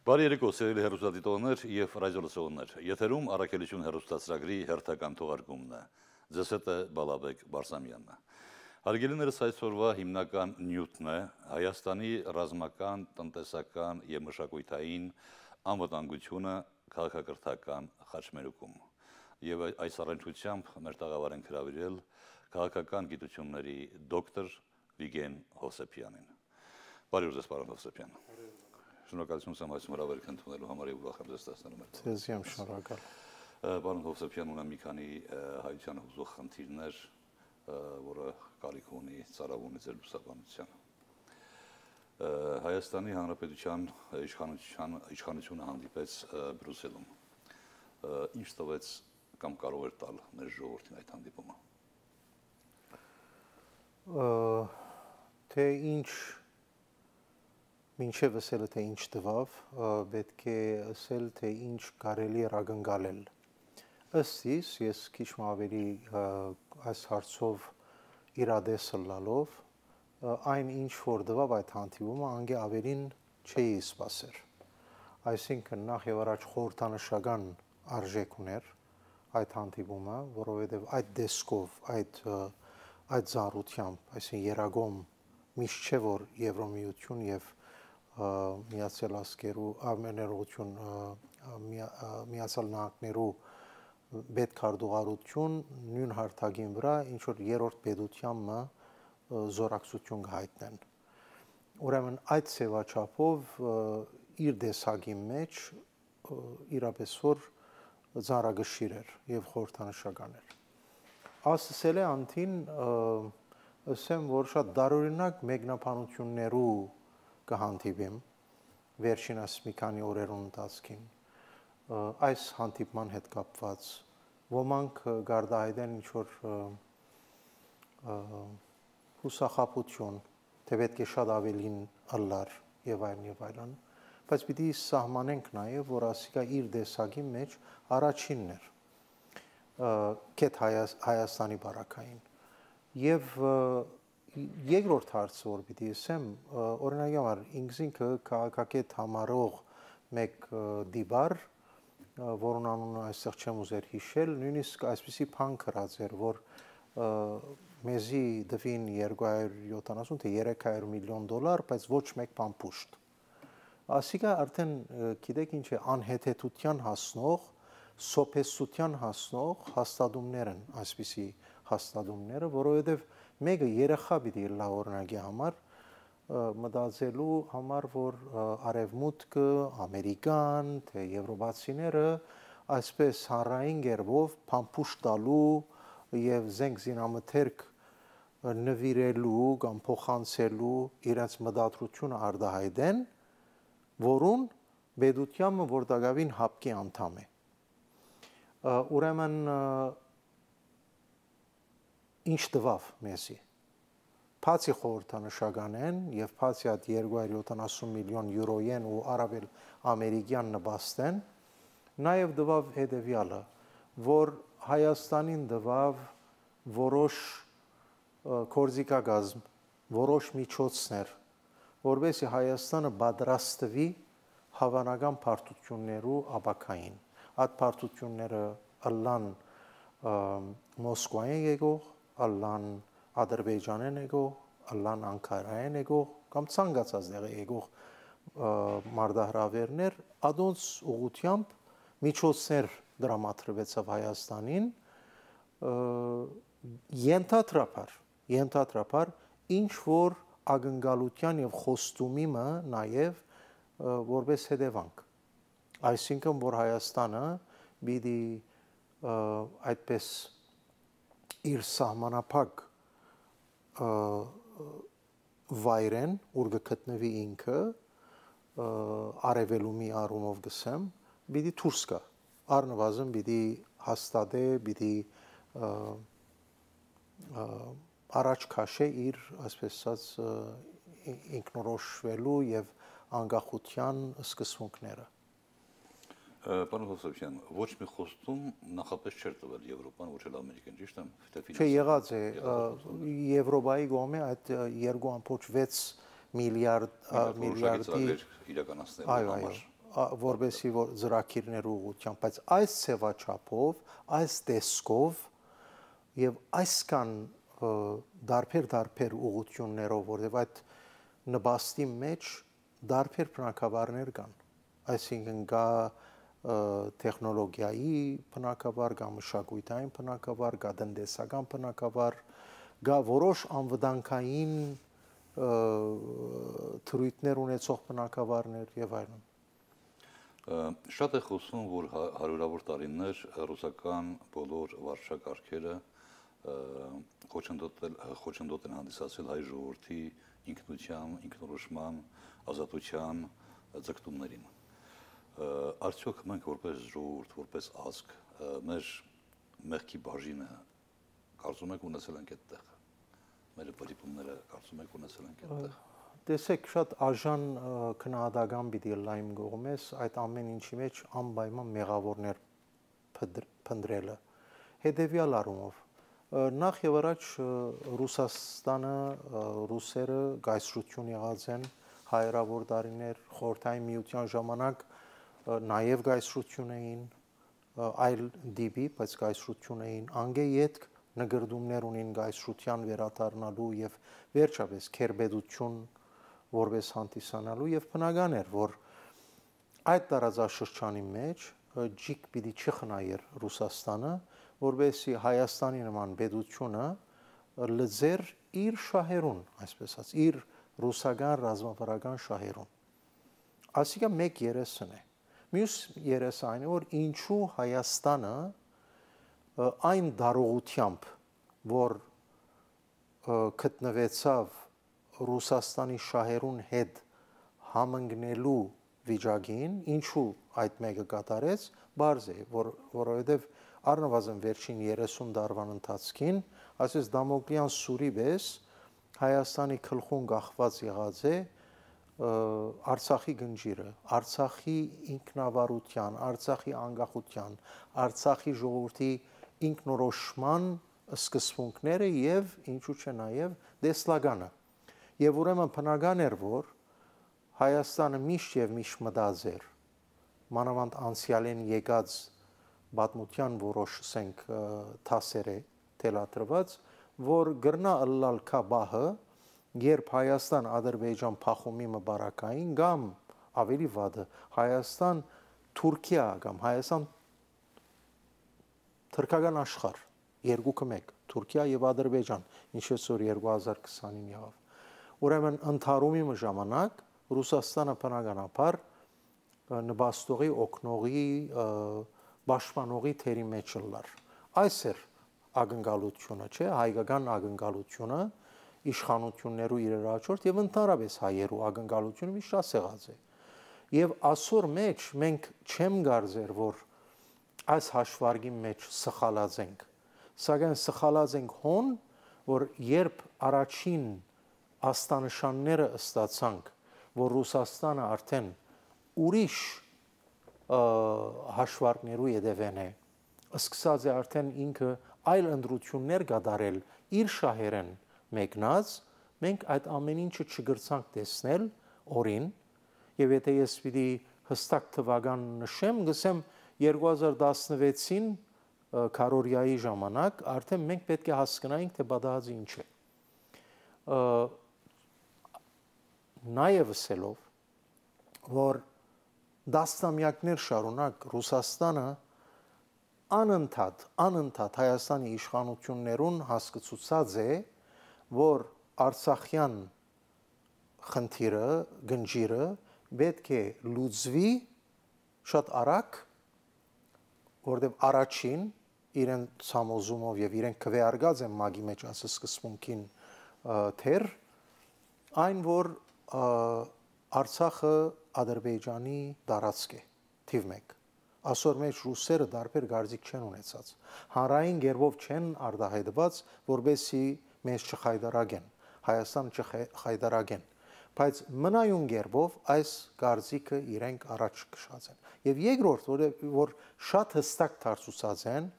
Բարի երեկո, սիրելի հեռուստադիտողներ և ռադիոլսողներ։ Եթերում առաքելություն հեռուստացրագրի հերթական թողարկումն է։ Ձեզ հետ է Բալաբեկ Բարսամյանն։ Հարգելիներս, այսօրվա հիմնական նյութն է Հայաստանի ռազմական, տնտեսական և մշակութային անվտանգությունը քաղաքակրթական խաչմերուկում։ Եվ այս առնչությամբ մեր տաղավար ենք հրավիրել քաղաքական գիտությունների դոկտոր Վիգեն Հովսեփյանին։ Բարի օր ձեզ, պարոն Հովսեփյան։ Շնորհակալություն եմ այսօր հրավերք ընդունելու համար եւ ուրախ եմ ձեզ տեսնելու մեր։ Ձեզ եմ շնորհակալ։ Պարոն Հովսեփյան, ունեմ մի քանի հայության հուզող խնդիրներ, որը կարիք ունի ծառայունի ձեր լուսաբանության։ Հայաստանի Հանրապետության իշխանությունը հանդիպեց Բրյուսելում։ Ինչ տվեց կամ կարող էր տալ մեր ժողովրդին այդ հանդիպումը։ Թե ինչ մինչև ասելը թե ինչ տվավ, պետք է ասել թե ինչ կարելի էր ակնկալել։ Ըստ իս, ես քիչ ավելի այս հարցով իրադես լալով, այն ինչ որ տվավ այդ հանդիպումը, անգե ավելին չէի սպասեր։ Այսինքն նախ եւ առաջ խորհրդանշական արժեք ուներ այդ հանդիպումը, որովհետեւ այդ դեսկով, այդ զառությամբ, այսինքն երագոմ միշտ չէ որ Եվրոմիություն եւ Միացյալ Ազգերու ամեներություն Միացյալ Նահանգներու պետքարտուղարություն նույն հարթակին վրա ինչ որ երրորդ պետությամը զորակցություն հայտնեն։ Ուրեմն այդ ծավալչափով իր դեսագի մեջ իրապես որ ծառագշիր էր եւ խորհրդանշական էր։ Ասել է անտին ասեմ որ շատ դարօրինակ մեկնաբանություններու կհանդիպեմ վերջինս մի քանի օրերուն ընթացքին այս հանդիպման հետ կապված ոմանք գարդահայտեն ինչ որ հուսախաբություն թե պետք է շատ ավելին ըլլար եւ այլն բայց պիտի սահմանենք նաեւ որ ասիկա իր դեսագի մեջ առաջինն էր կետ Հայաստանի բարակային եւ երկրորդ հարցը որ պիտի ասեմ օրինակ համար ինքնինքը քաղաքակետ համարող մեկ դիբար որն անունը այստեղ չեմ ուզեր հիշել նույնիսկ այսպիսի բան գրած էր որ մեզի դվին 270 թե 300 միլիոն դոլար բայց ոչ մեկ բան պուշտ ասիկա արդեն գիտեք ինչ է անհեթեթության հասնող սոփեսության հասնող հաստատումներ են այսպիսի հաստատումները որովհետև մեկը երեխա պիտի լա օրինակի համար մտածելու համար որ արևմուտքը ամերիկան թե եվրոպացիները այսպես հանրային գերբով փամփուշտ տալու եւ զենք զինամթերք նվիրելու կամ փոխանցելու իրաց մտադրությունը արդահայտեն որուն պետությամը որտագավին հապկի անդամ է ուրեմն ինչ տվավ մեզի Բացի խորհրդանշական են եւ բացի այդ 270 միլիոն յուրոյեն ու արաբել ամերիկյան նպաստեն նաեւ դվավ հետեւյալը որ Հայաստանին դվավ որոշ կորզիկագազմ որոշ միջոցներ որովհետեւ Հայաստանը պատրաստվի հավանական բարդություններու ապակային այդ բարդությունները ըլլան Մոսկվայեն եկող ըլլան Ադրբեջանեն եկող, ըլլան Անկարայեն եկող կամ ցանկացած դեղ եկող մարդահրավերներ ադոնց ուղությամբ միջոցներ դրամատրվեցավ Հայաստանին ենթադրաբար ինչ որ ակնկալության եւ խոստումի մը նաեւ որպես հետևանք այսինքն որ Հայաստանը պիտի այդպես իր սահմանափակ վայրեն ուր գտնվի ինքը արևելումի առումով գսեմ պիտի դուրս գա առնվազն պիտի հաստատե պիտի առաջ քաշե իր այսպես ասած ինքնորոշվելու եւ անկախության սկզբունքները Պարոն Հովսեփյան, ոչ մի խոստում նախապես չէր տվել Եվրոպան, ոչ էլ Ամերիկան, ճիշտ եմ, Չէ, եղած է Եվրոպայի կողմէ այդ 2.6 միլիարդի իրականացնելու համար որբեսի որ ծրագիրներ ուղղությամբ, բայց այս ցեվաչափով, այս տեսքով եւ այսքան դարբեր ուղղություններով, որովհետեւ այդ նպաստի մեջ դարբեր բնակավարներ կան, այսինքն կա տեխնոլոգիայի բնակավար, կա մշակութային բնակավար, կա տնտեսական բնակավար, կա որոշ անվտանգային թրույթներ ունեցող բնակավարներ եւ այլն։ Շատ է խոսում, որ հարյուրավոր տարիներ ռուսական բոլոր վարչակարգերը խոչընդոտ են հանդիսացել հայ ժողովրդի ինքնության, ինքնորոշման, ազատության ձգտումներին։ Արդյոք մենք որպես ժողովուրդ, որպես ազգ, մեր մեղքի բաժինը կարծում եք ունեցել ենք այդտեղ։ Մեր պրիպումները կարծում եք ունեցել ենք այդտեղ։ Տեսեք, շատ արժան քննադատական պիտի լայմ գողմես այդ ամեն ինչի մեջ անպայման մեղավորներ փնտրելը։ Հետևյալ առումով նախ եւ առաջ Ռուսաստանը, ռուսերը գայսրություն եղած են հայրավոր տարիներ, խորհրդային միության ժամանակ նաեւ գայսրություն էին, այլ դիպի, բայց գայսրություն էին, անգե յետք նգրդումներ ունին գայսրության վերադառնալու եւ վերջապես քերբեդություն որպես հանդիսանալու եւ բնական էր, որ այդ տարածաշրջանի մեջ ջիկ պիտի չխնայեր Ռուսաստանը, որովհետեւ Հայաստանի նման պետությունը լծեր իր շահերուն, այսպես ասած, իր ռուսական ռազմավարական շահերուն։ Ասիկա մեկ երեսն է։ Մյուս երեսը այն է, որ ինչու Հայաստանը այն դարողությամբ, որ գտնվեցավ Ռուսաստանի շահերուն հետ համընկնելու վիճակին, ինչու այդ մեկը կատարեց, բարձ է, որովհետև առնվազն վերջին 30 տարվան ընթացքին, այսպես Դամոկլյան սուրի պես Հայաստանի գլխուն կախված եղած է Արցախի գնջիրը, Արցախի ինքնավարության, Արցախի անկախության, Արցախի ժողովրդի ինքնորոշման սկզբունքները եւ ինչու՞ չէ նաեւ դեսլագանը։ Եվ ուրեմն բնական էր, որ Հայաստանը միշտ եւ միշտ մտածեր մանավանդ անցյալեն եկած պատմության որոշ ասենք թասեր է թելադրված, որ գրնա ըլլալ քաբահը, երբ Հայաստան-Ադրբեջան փախումի մբարակային կամ ավելի վատը Հայաստան-Թուրքիա կամ Հայաստան-թուրքական աշխարհ երկուքը մեկ, Թուրքիա եւ Ադրբեջան, ինչպես որ 2020-ին եղավ։ Ուրեմն ընդհարումի ժամանակ Ռուսաստանը բնականաբար նպաստողի, օգնողի, պաշտպանողի թերի մեջ լար։ Այս էր ակնկալությունը, չէ, հայկական ակնկալությունը, իշխանություններու իրար հաջորդ եւ ընդհանրապես հայերու ակնկալությունը մի շատ եղած է։ Եվ ասոր մեջ մենք չեմ գարձեր, որ այս հաշվարկի մեջ սխալած ենք, սակայն սխալած ենք հոն, որ երբ առաջին աստանշանները ստացանք, որ Ռուսաստանը արդեն ուրիշ հաշվարկներու յետևեն է, սկսած է արդեն ինքը այլ ընդրություններ կատարել իր շահերեն մեկնած, մենք այդ ամեն ինչը չգրցանք տեսնել օրին, եւ եթե ես պիտի հստակ թվական նշեմ, գսեմ 2016-ին քարորիայի ժամանակ արդեն մենք պետք է հասկանայինք, թե բադահածը ինչ է։ Նաեւ ասելով, որ դասամյակներ շարունակ Ռուսաստանը անընդհատ Հայաստանի իշխանություններուն հասկացուցած է, որ Արցախյան խնդիրը, գնջիրը պետք է լուծվի շատ արագ, որտեղ առաջին իրեն ցամոզումով եւ իրեն քվեարկած են մագի մեջ ասես սկզբունքին թեր այն որ Արցախը Ադրբեջանի տարածք է թիվ 1 ասոր մեջ ռուսերը դարբեր գարձիկ չեն ունեցած հանրային գերբով չեն արտահայտված որբեսի մեզ չխայդարագեն Հայաստանը չխայդարագեն բայց մնայուն գերբով այս գարձիկը իրենք առաջ քշած են եւ երկրորդ որ շատ հստակ դարձուցած են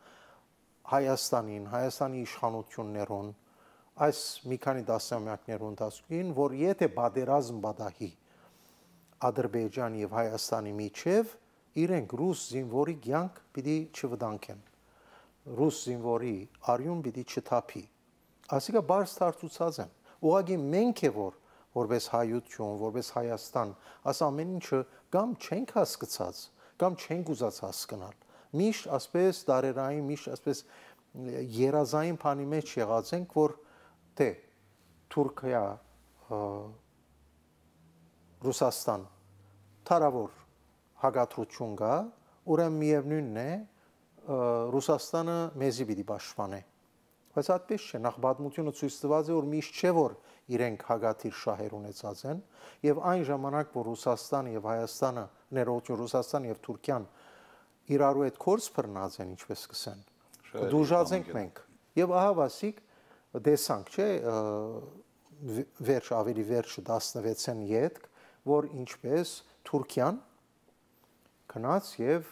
Հայաստանին Հայաստանի իշխանություններուն այս մի քանի դասամյակներուն ընթացքին որ եթե բادرազմ բադահի Ադրբեջան եւ Հայաստանի միջև իրենք ռուս զինվորի կյանք պիտի չվտանգեն։ Ռուս զինվորի արյուն պիտի չթափի։ Ասիկա բարձ դարձուցած են։ Ուղղակի մենք է որպես հայություն, որպես Հայաստան, աս ամեն ինչը կամ չենք հասկացած, կամ չենք ուզած հասկանալ։ Միշտ ասպես դարերային, միշտ ասպես երազային բանի մեջ եղած ենք, որ թե Թուրքիա, Ռուսաստան թարավոր հագատրություն կա, ուրեմն միևնույնն է Ռուսաստանը մեզի պիտի պաշտպանե։ Բայց այդպես չէ, նախ պատմությունը ցույց տված է, որ միշտ չէ որ իրենք հագաթիր շահեր ունեցած են, եւ այն ժամանակ, որ Ռուսաստանը եւ Հայաստանը, ներողություն, Ռուսաստանը եւ Թուրքիան իրարու հետ կորս բռնած են, ինչպես կսեն, դուժած ենք մենք։ Եվ ահա վասիկ դեսանք, չէ, ավելի վերջը 16-ին յետք, որ ինչպես Թուրքիան քնած եւ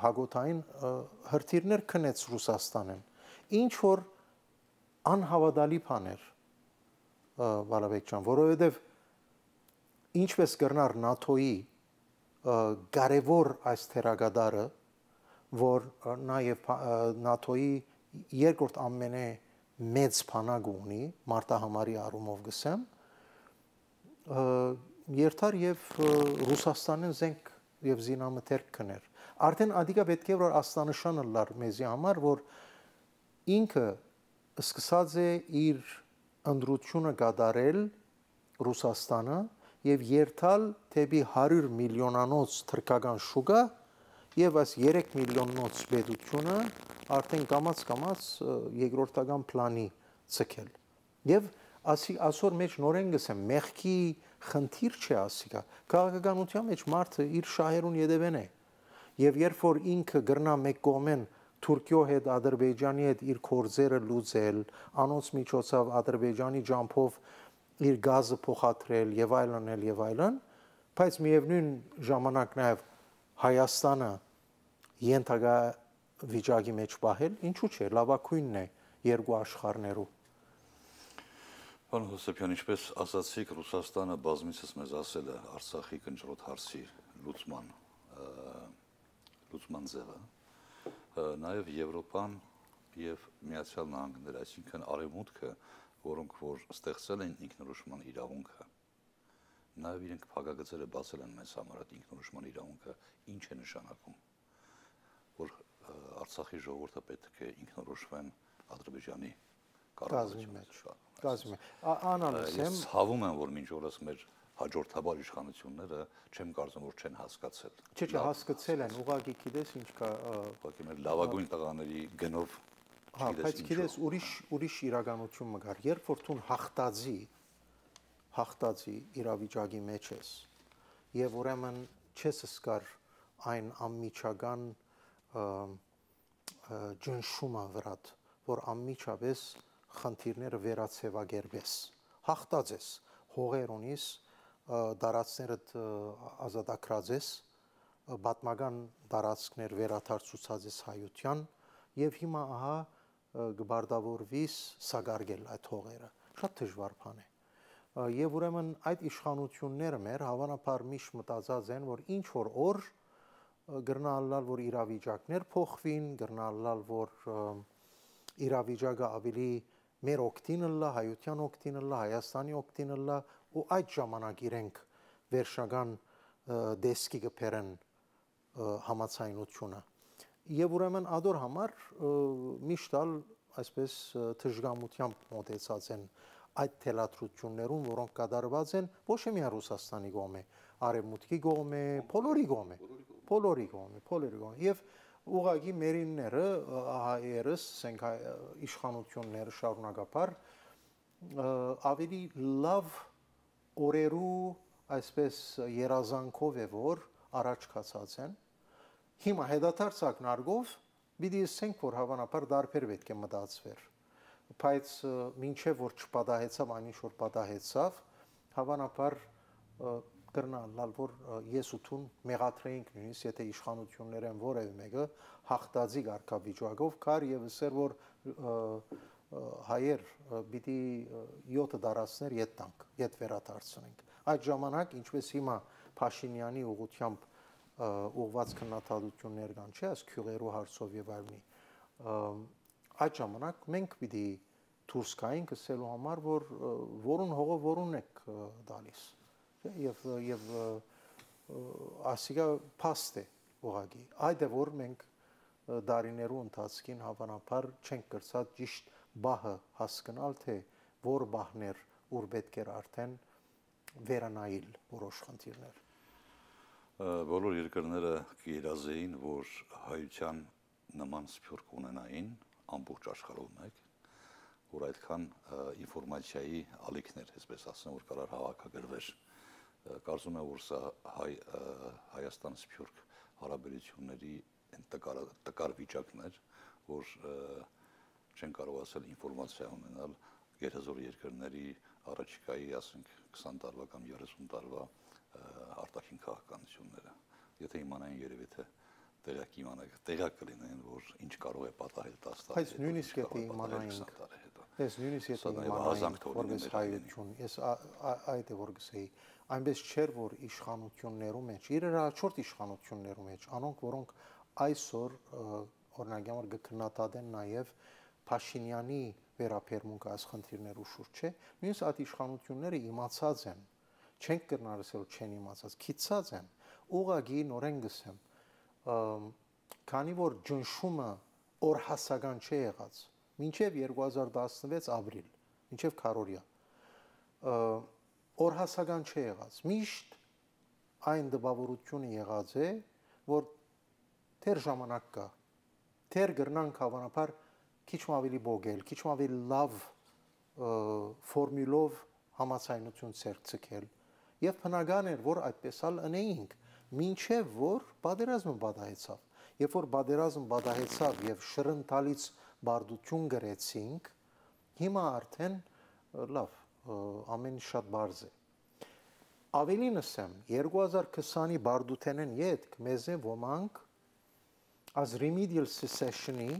հագոթային հրթիռներ քնեց Ռուսաստանին։ Ինչ որ անհավատալի բաներ Բալաբեկ ջան, որովհետև ինչպես կրնար ՆԱԹՕ-ի կարևոր այս թերագադարը, որ նաև ՆԱԹՕ-ի երկրորդ ամենե մեծ բանակ ունի, մարտահամարի առումով գսեմ, երթար եւ Ռուսաստանին զենք եւ զինամթերք քներ։ Արդեն ադիկա պետք է որ աստանշանը լար մեզի համար, որ ինքը սկսած է իր ընդրությունը կատարել Ռուսաստանը եւ երթալ թեպի 100 միլիոնանոց թրքական շուկա եւ այս 3 միլիոննոց պետությունը արդեն կամաց երկրորդական պլանի ցկել։ Եվ ասոր մեջ նորեն գսեմ մեղքի խնդիր չէ ասիկա։ Քաղաքականության մեջ մարդը իր շահերուն յետևեն է։ Եվ երբ որ ինքը գրնա մեկ կողմեն Թուրքիո հետ Ադրբեջանի հետ իր կորձերը լուծել, անոնց միջոցով Ադրբեջանի ջամփով իր գազը փոխադրել եւ այլն, բայց միևնույն ժամանակ նաեւ Հայաստանը ենթակա վիճակի մեջ պահել, ինչու՞ չէ, լավակույնն է երկու աշխարհներու։ Պարոն Հովսեփյան, ինչպես ասացիք, Ռուսաստանը բազմիցս մեզ ասել է Արցախի կնճռոտ հարցի լուծման ձևը, նաև Եվրոպան եւ Միացյալ Նահանգները, այսինքն Արևմուտքը, որոնք որ ստեղծել են ինքնորոշման իրավունքը, նաև իրենք փակագծերը բացել են մեզ համար այդ ինքնորոշման իրավունքը, ինչ է նշանակում, որ Արցախի ժողովուրդը պետք է ինքնորոշվեն Ադրբեջանի կազմի մեջ։ Անալիզ եմ։ Ես հավում եմ, որ մինչ օրս մեր հաջորդաբար իշխանությունները չեմ կարծում, որ չեն հասկացել։ Չէ, հասկացել են, ուղղակի գիտես ինչ կա։ Ուղղակի մեր լավագույն տղաների գնով։ Հա, բայց գիտես ուրիշ իրականություն մը գար, երբ որ դու հաղթածի իրավիճակի մեջ ես, եւ ուրեմն չես սկար այն անմիջական ջնշումը վրատ, որ անմիջապես խնդիրները վերացեվագերբես, հաղթած ես, հողեր ունիս, դարածներդ ազատագրած ես, պատմական դարածքներ վերաթարցուցած ես հայության, եւ հիմա ահա գբարդավորվիս սագարգել այդ հողերը, շատ դժվար բան է։ Եվ ուրեմն այդ իշխանությունները մեր հավանաբար միշտ մտածած են, որ ինչ որ օր գրնալալ, որ իրավիճակներ փոխվին, գրնալալ, որ իրավիճակը ավելի մեր օգտին լա, հայության օգտին լա, Հայաստանի օգտին լա, ու այդ ժամանակ իրենք վերջական դեսկի կփերեն համացայնությունը։ Եվ ուրեմն ադոր համար միշտալ այսպես թշգամությամբ մոտեցած են այդ թելադրություններուն, որոնք կատարված են ոչ միայն Ռուսաստանի կողմէ, Արևմուտքի կողմէ, բոլորի կողմէ։ Եվ ուղղակի մերինները, հայերս, ասենք իշխանությունները շարունակապար ավելի լավ օրերու այսպես երազանքով է որ առաջ կացած են։ Հիմա հետադարձ ակնարկով պիտի ասենք որ հավանաբար դարբեր պետք է մտածվեր, բայց մինչև որ չպատահեցավ այն ինչ որ պատահեցավ, հավանաբար կրնալ որ ես ու թուն մեղադրեինք նույնիսկ եթե իշխանություններ են որևէ մեկը հաղթածի կարգավիճակով կար եւ ասեր որ հայեր պիտի 7 դարածներ ետ տանք, ետ վերադարձնենք։ Այդ ժամանակ, ինչպես հիմա Փաշինյանի ուղղությամբ ուղղված քննադատություններ կան, չէ՞, այս քյուղերու հարցով եւ այլնի։ Այդ ժամանակ մենք պիտի դուրս գայինք ասելու համար, որ որուն հողը որուն եք դալիս, եւ ասիկա փաստ է ուղղակի։ Այդ է որ մենք դարիներու ընթացքին հավանաբար չենք կրծած ճիշտ բահը հասկանալ, թե որ բահներ ուր պետք էր արդեն վերանայել որոշ խնդիրներ։ Բոլոր երկրները կիրազեին, որ հայության նման սփյուռք ունենային ամբողջ աշխարհում մեկ, որ այդքան ինֆորմացիայի ալիքներ, այսպես ասեմ, որ կարար հավաքագրվեր։ Կարծում եմ, որ սա Հայաստան սփյուռք հարաբերությունների տկար վիճակն էր, որ չեն կարող ասել ինֆորմացիա ունենալ գերազոր երկրների առաջիկայի, ասենք, 20 տարվա կամ 30 տարվա արտաքին քաղաքականությունները։ Եթե իմանային երևի թե տեղակ կլինեն, որ ինչ կարող է պատահել 10 տարի։ Բայց նույնիսկ եթե իմանայինք, ես նույնիսկ եթե իմանայինք որպես հայություն, ես այդ է որ գսեի, այնպես չէր որ իշխանություններու մեջ, իրար հաջորդ իշխանություններու մեջ, անոնք որոնք այսօր օրինակ կքննադատեն նաև Փաշինյանի վերաբերմունքը այս խնդիրներու շուրջ չէ, նույնիսկ այդ իշխանությունները իմացած են, չենք կրնալ ասել չեն իմացած, քիծած են, ուղղակի նորեն գսեմ, քանի որ ջնշումը օրհասական չէ եղած, մինչև 2016 ապրիլ, մինչև քարորիա, օրհասական չէ եղած, միշտ այն դպավորությունը եղած է, որ թեր ժամանակ կա, թեր գրնանք հավանաբար քիչ ավելի բոգել, քիչ ավելի լավ ֆորմուլով համացայնություն ցերցել եւ բնական էր որ այդպես ալ անեինք մինչեւ որ պատերազմը պատահեցավ երբ որ պատերազմը պատահեցավ եւ շրընթալից բարդություն գրեցինք հիմա արդեն լավ ամեն շատ բարձ է ավելին ասեմ 2020-ի բարդութենեն յետք մեզ է ոմանք as remedial secession-ի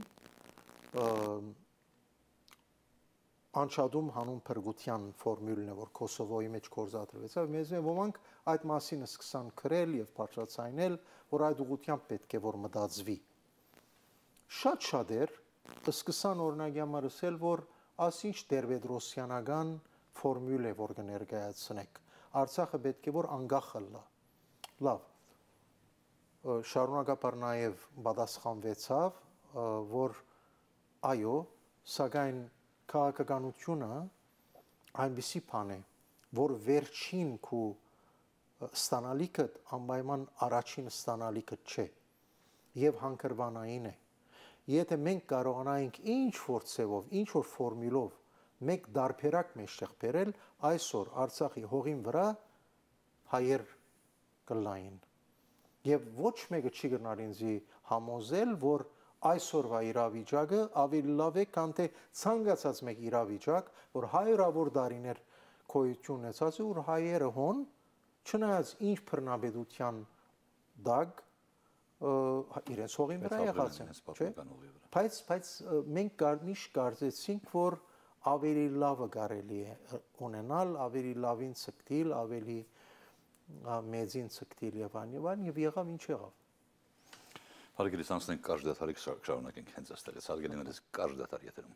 անչադում հանուն փրկության ֆորմուլն է որ Կոսովոյի մեջ կորզադրվեցավ մեզ ոմանք այդ մասին սկսան քրել եւ բարձրացնել որ այդ ուղղությամբ պետք է որ մտածվի շատ էր սկսան օրինակի համար ասել որ ասինչ Տեր-Պետրոսյանական ֆորմուլ է որ կներկայացնեք Արցախը պետք է որ անկախ լա լավ շարունակաբար նաեւ պատասխանվեցավ որ այո սակայն քաղաքականությունը այնպիսի բան է, որ վերջին քու ստանալիքը անպայման առաջին ստանալիքը չէ եւ հանգրվանային է։ Եթե մենք կարողանայինք ինչ որ ցևով, ինչ որ ֆորմուլով մեկ դարբերակ մեջտեղ բերել, այսօր Արցախի հողին վրա հայեր կլային։ Եվ ոչ մեկը չի գնալ ինձի համոզել, որ այսօրվա իրավիճակը ավելի լավ է, քան թե ցանկացած մեկ իրավիճակ, որ հայրավոր դարիներ գոյություն ունեցած է, որ հայերը հոն չնայած ինչ բռնապետության դակ իրենց հողին վրա եղած են, չէ՞։ Բայց մենք միշտ կարծեցինք, որ ավելի լավը կարելի է ունենալ, ավելի լավին ցկտիլ, ավելի մեծին ցկտիլ եւ այլն եւ եղավ ինչ եղավ։ Հարգելի անցնենք կարճ դադարի շարունակենք հենց այստեղից հարգելիներս կարճ դադար եթերում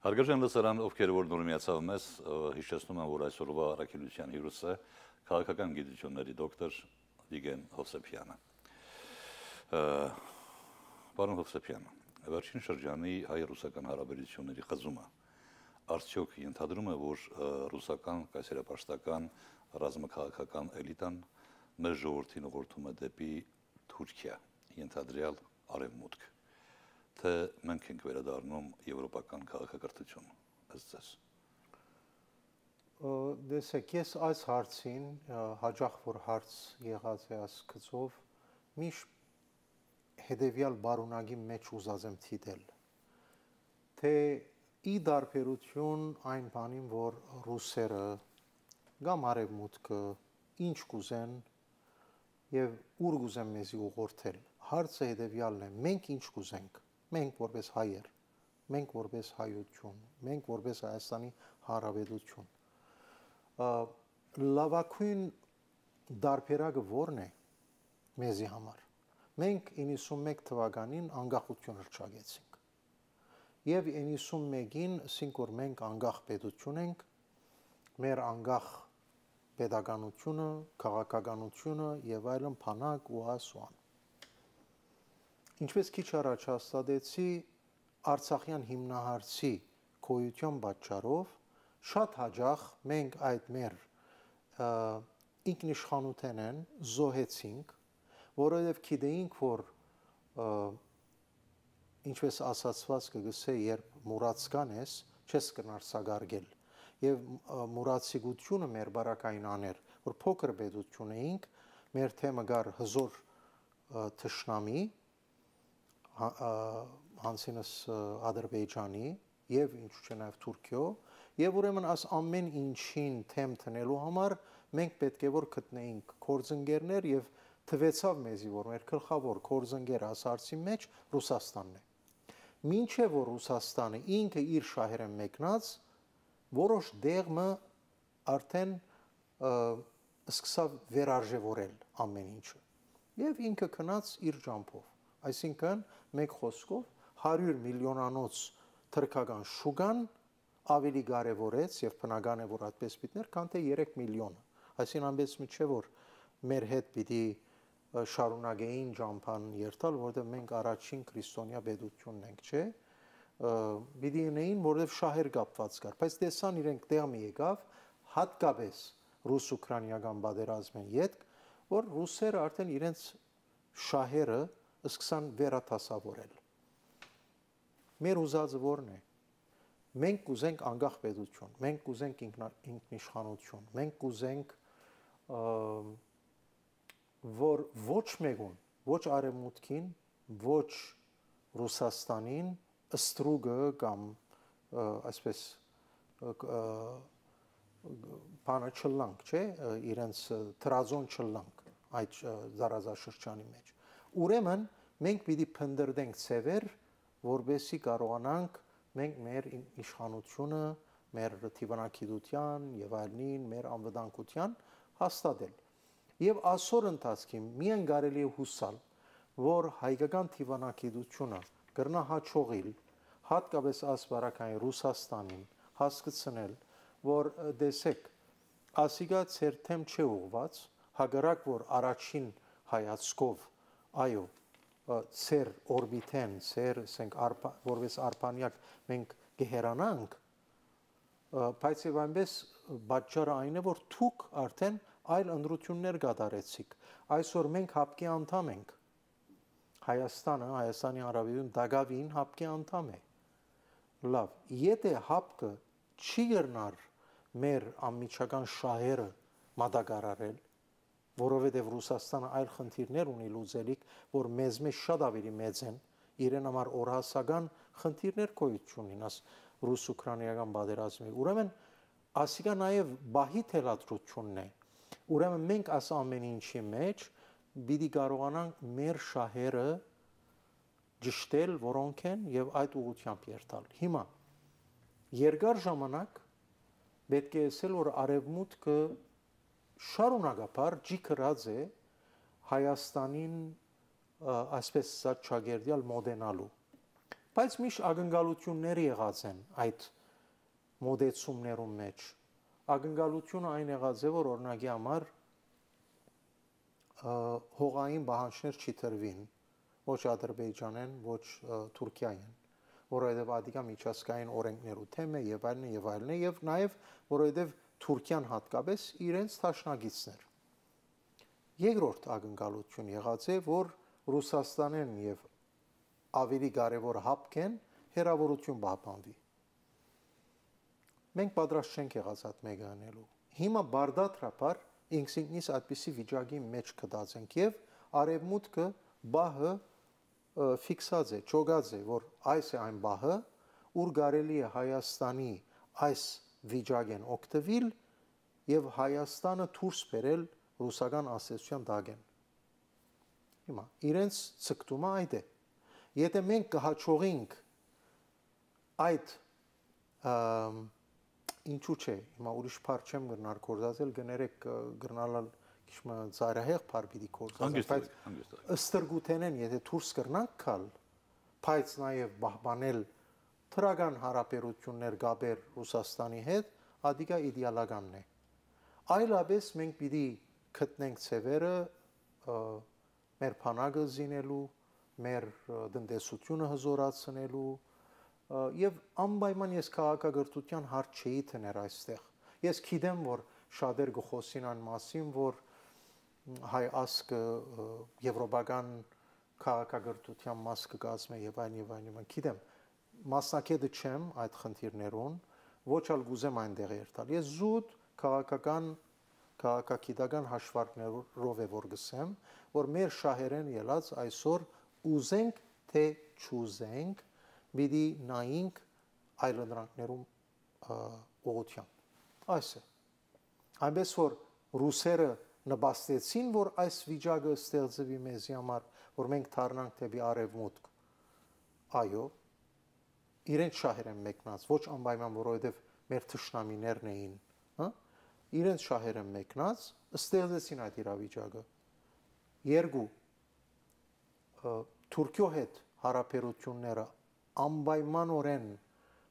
Հարգարժան լսարան, ովքեր որ նոր միացավ մեզ, հիշեցնում եմ, որ այսօրվա առաքելության հյուրը քաղաքական գիտությունների դոկտոր Վիգեն Հովսեփյանը։ Պարոն Հովսեփյան, վերջին շրջանի հայ-ռուսական հարաբերությունների խզումը արդյոք ենթադրում է, որ ռուսական կայսերապաշտական ռազմաքաղաքական էլիտան մեր ժողովրդին ուղղորդում է դեպի Թուրքիա, ենթադրյալ արևմուտք։ Թե մենք ենք վերադառնում եվրոպական քաղաքակրթություն, ըստ ձեզ։ Դեսեք, ես այս հարցին հաջող որ հարց եղած է ասկծով միշտ հետևյալ բարունակի մեջ ուզած եմ թիդել, թե ի դարբերություն այն բանին, որ ռուսերը կամ արևմուտքը ինչ կուզեն եւ ուր կուզեն մեզի ուղղորդել, հարցը հետևյալն է, մենք ինչ կուզենք, մենք որպես հայեր, մենք որպես հայություն, մենք որպես Հայաստանի Հանրապետություն, լավագույն դարբերակը որն է մեզի համար։ Մենք 91 թվականին անկախություն հռչակեցինք։ Եվ 91-ին, ասենք որ մենք անկախ պետություն ենք, մեր անկախ պետականությունը, քաղաքականությունը եւ այլն փանակ ու ասուան։ Ինչպես քիչ առաջ հաստատեցի, Արցախյան հիմնահարցի գոյության պատճառով շատ հաջող մենք այդ մեր ինքնիշխանութենեն զոհեցինք, որովհետև գիտեինք, որ ինչպես ասացված կգսե, երբ մուրացկան ես, չես կնար սագարգել, եւ մուրացիկությունը մեր բարակային աներ, որ փոքր պետություն էինք, մեր թեմը գար հզոր թշնամի, հանցինս Ադրբեջանի եւ ինչու՞ չէ նաեւ Թուրքիո, եւ ուրեմն աս ամեն ինչին թեմ տնելու համար մենք պետք է որ գտնեինք կորձընկերներ եւ թվեցավ մեզի որ մեր գլխավոր կորձընկերը ասարցի մեջ Ռուսաստանն է։ Մինչեւ որ Ռուսաստանը ինքը իր շահերը մեկնած որոշ դեղը արդեն սկսավ վերարժևորել ամեն ինչը եւ ինքը քնած իր ջամփով, այսինքն մեկ խոսքով 100 միլիոնանոց թրքական շուգան ավելի կարևորեց եւ բնական է որ այդպես պիտներ, քան թե 3 միլիոնը։ Այսինքն ամենից մի չէ որ մեր հետ պիտի շարունակեին ջամփան երթալ, որովհետեւ մենք առաջին քրիստոնյա պետությունն ենք, չէ՞։ Պիտի ունեին, որովհետեւ շահեր կապված կար, բայց տեսան իրենք տեղը եկավ հատկապես ռուս-ուկրաինական պատերազմին յետք, որ ռուսերը արդեն իրենց շահերը սկսան վերաթասավորել։ Մեր ուզածը որն է։ Մենք կուզենք անկախ պետություն, մենք կուզենք ինքնիշխանություն, մենք կուզենք որ ոչ մեկուն, ոչ արևմուտքին, ոչ Ռուսաստանին ստրուգը կամ այսպես բանը չլանք, չէ, իրենց տրազոն չլանք այդ զարազաշրջանի մեջ։ Ուրեմն մենք պիտի փնտրենք ծևեր, որբեսի կարողանանք մենք մեր իշխանությունը, մեր թիվանակիտության եւ այլնին, մեր անվտանգության հաստատել։ Եվ այսօր ընթացքին միայն կարելի է հուսալ, որ հայկական թիվանակիտությունը կրնա հաջողիլ, հատկապես ասպարակային Ռուսաստանին հասկացնել, որ դեսեք, ասիգա ծեր թեմ չէ ուղված, հակառակ որ առաջին հայացքով, այո, ծեր օրբիտեն, ծեր որպես արբանյակ մենք կհերանանք, բայց եւ այնպես պատճառը այն է, որ դուք արդեն այլ ընդրություններ կատարեցիք։ Այսօր մենք հապկի անդամ ենք։ Հայաստանը, Հայաստանի Հանրապետություն դակավին հապկի անդամ է։ Լավ, եթե հապկը չի գրնար մեր անմիջական շահերը մատակարարել, որովհետև Ռուսաստանը այլ խնդիրներ ունի լուծելիք, որ մեզ մեջ շատ ավելի մեծ են, իրեն համար օրհասական խնդիրներ գոյություն ունին, աս ռուս-ուկրաինական պատերազմի։ Ուրեմն ասիկա նաև բահի թելադրությունն է։ Ուրեմն մենք աս ամեն ինչի մեջ պիտի կարողանանք մեր շահերը ճշտել, որոնք են եւ այդ ուղղությամբ երթալ։ Հիմա երկար ժամանակ պետք է ասել, որ արևմուտքը շարունակաբար ջիքրած է Հայաստանին այսպես սաճագերդյալ մոդենալու, բայց միշտ ակնկալություններ եղած են այդ մոդեցումներում մեջ։ Ակնկալությունը այն եղած է, որ օրինակի համար հողային պահանջներ չի տրվին, ոչ Ադրբեջանեն, ոչ Թուրքիային, որովհետև ադիկա միջազգային օրենքներու թեմ է եւ այլն եւ այլն է եւ նաեւ որովհետև Թուրքիան հատկապես իրենց թաշնագիցներ։ Երկրորդ ակնկալություն եղած է, որ Ռուսաստանեն եւ ավելի կարևոր հապկեն հերավորություն պահպանվի։ մենք պատրաստ չենք եղած այդ մեկը անելու։ Հիմա բարդատրապար ինքնից այդպիսի վիճակի մեջ կդածենք եւ արևմուտքը բահը ֆիքսած է, ճոգած է, որ այս է այն բահը, ուր կարելի է Հայաստանի այս վիճակեն օգտվել եւ Հայաստանը դուրս բերել ռուսական ասեցության դագեն։ Հիմա իրենց ցկտումը այդ է։ Եթե մենք կհաջողենք այդ ինչու՞ չէ, հիմա ուրիշ բառ չեմ գնար կորզածել, գներեք գրնալալ քիչ ծայրահեղ բառ պիտի կորզածել, բայց ըստրգութենեն եթե դուրս կրնանք քալ, բայց նաև բահբանել թրական հարաբերություններ գաբեր Ռուսաստանի հետ, ադիգա իդեալականն է։ Այլապես մենք պիտի գտնենք ցևերը մեր փանակը զինելու, մեր տնտեսությունը հզորացնելու եւ անպայման ես քաղաքագործության հարց չէի տներ այստեղ։ Ես գիտեմ, որ շատեր գխոսին այն մասին, որ հայ ասկը եվրոպական քաղաքագործության մաս կկազմի եւ այլն, գիտեմ, մասնակետը չեմ այդ խնդիրներուն, ոչ ալ գուզեմ այնտեղ երթալ։ Ես զուտ քաղաքագիտական հաշվարկներով է որ գսեմ, որ մեր շահերեն ելած այսօր ուզենք թե չուզենք, պիտի նայենք այլընտրանքներում ուղղությամբ։ Այս է։ Այնպես որ ռուսերը նպաստեցին, որ այս վիճակը ստեղծվի մեզի համար, որ մենք դառնանք դեպի արևմուտք։ Այո, իրենց շահեր են մեկնած, ոչ անպայման, որովհետև մեր թշնամիներն էին, հա? Իրենց շահեր են մեկնած, ստեղծեցին այդ իրավիճակը։ Երկու Թուրքիո հետ հարաբերությունները անպայմանորեն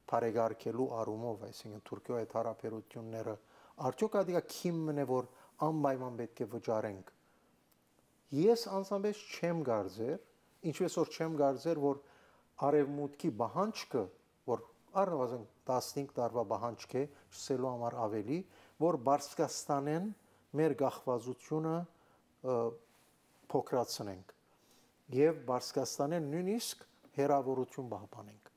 բարեկարգելու առումով, այսինքն Թուրքիո հետ հարաբերությունները արդյոք ադիգա քիմն է, որ անպայման պետք է վճարենք։ Ես անձամբ չեմ կարծեր, ինչպես որ չեմ կարծեր, որ արևմուտքի բանջկը, որ առնվազն 15 տարվա բանջկ է, չսելու համար ավելի, որ Բարսկաստանեն մեր գաղվածությունը փոքրացնենք եւ Բարսկաստանեն նույնիսկ հերավորություն պահպանենք։